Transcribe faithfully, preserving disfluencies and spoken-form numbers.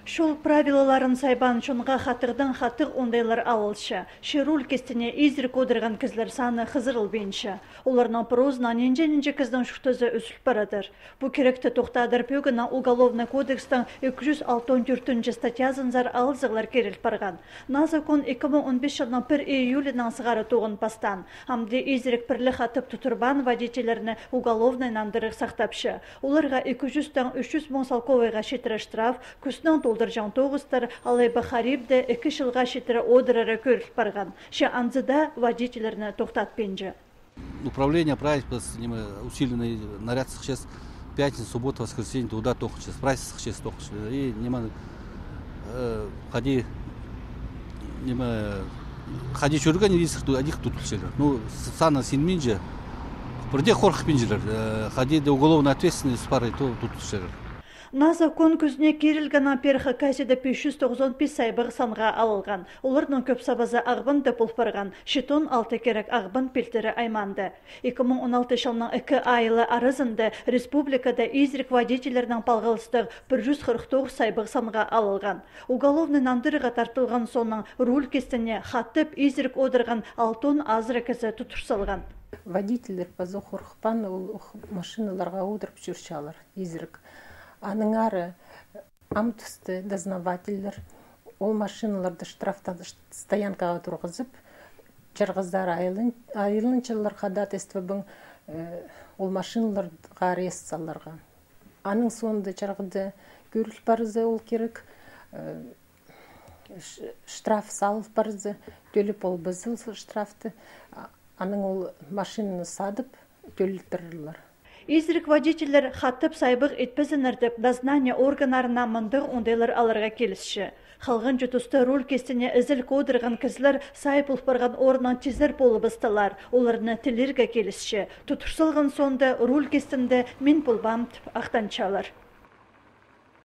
Чол правилаларын сайбаан чонға хатығдаң хатығ оңдайлар алылча. Че руль кистіне изірік одырған кізілер саны хызырылбинча. Оларның пырозынаң нинҷе-нинҷе кізінің чуртазы ӱзіл парадыр. Пу киректі тохтадыр пӧгінең Уголовный кодекстің ікі чӱс алтон тӧртінҷі статьязынзар алызығлар киріл парған. Наа закон ікі муң он пис чылның пір июлинаң сығара тоғын пастаан. Амды изірік пірле хатып тудырбаан водительлерні уголовный нандырығ сахтапча. Оларға ікі чӱстең ӱс чӱс муң салковайға читіре штраф, кӱснең толдырҷаң тоғыстар, алай ба харибде ікі чылға читіре одырары кӧріл парған. Че анзы даа водительлерні тохтатпинча. Управление правительства, ниме, усиленный наряд сыхчаң, пятница, суббота, воскресенье, туда тоғынчаң, правительство сыхчаң, тоғынчаң. И, ниме, э, хайди, ниме, хайди чӧрген, и сых ту-, адих тудылчалар. Ну, с-, саны синминче, пірдее хорыхпинчалар, э, хайди даа уголовная ответственность пар, и то тудылчалар. Наа закон кӱзіне кирілгеннең пеер Хакасияда пис чӱс тоғызон пис сайбығ санға алылған. Оларның кӧп сабазы Ағбанда пол парған, читон алты кирек Ағбан пилтірі аймаанда. Ікі муң он алты чылның ікі айылы аразында республикада изірік водительлернең палғалыстығ пір чӱс хырых тоғыс сайбығ санға алылған. Уголовный нандырығға тартылған соонаң руль кистіне хатып изірік одырған алтон азыра кізі тудыр салған. Водительлер пазох хорыхпаан, ол ох машиналарға одырып чӧрчелер изірік. Аннаңар ам тусты дознавательлер ол машиналарды штрафтан, ш-, стоянкаға турғызып, чарғызар айылын-, айылынчалар ходатайствобаң, э, ол машиналарға арест саларға. Аның соонда чарғыда кӧріл парза ол кирек, э, ш-, штраф салыл парза, тӧлеп ол пазыл штрафты, а-, анаң ол машинаны садып, тӧлеттірерлер. Изірік водительлер хатып сайбығ итпезіннер тіп, дознание органнарына мындағ оңдайлар аларға килісче. Халғанҷы туста руль кистіне ізіл одырған кізілер сай пол парған орыннаң тизер полыбыстылар, оларны тілирге килісче. Тудыр салған соонда руль кистінде мин полбаам тіп ахтанчалар.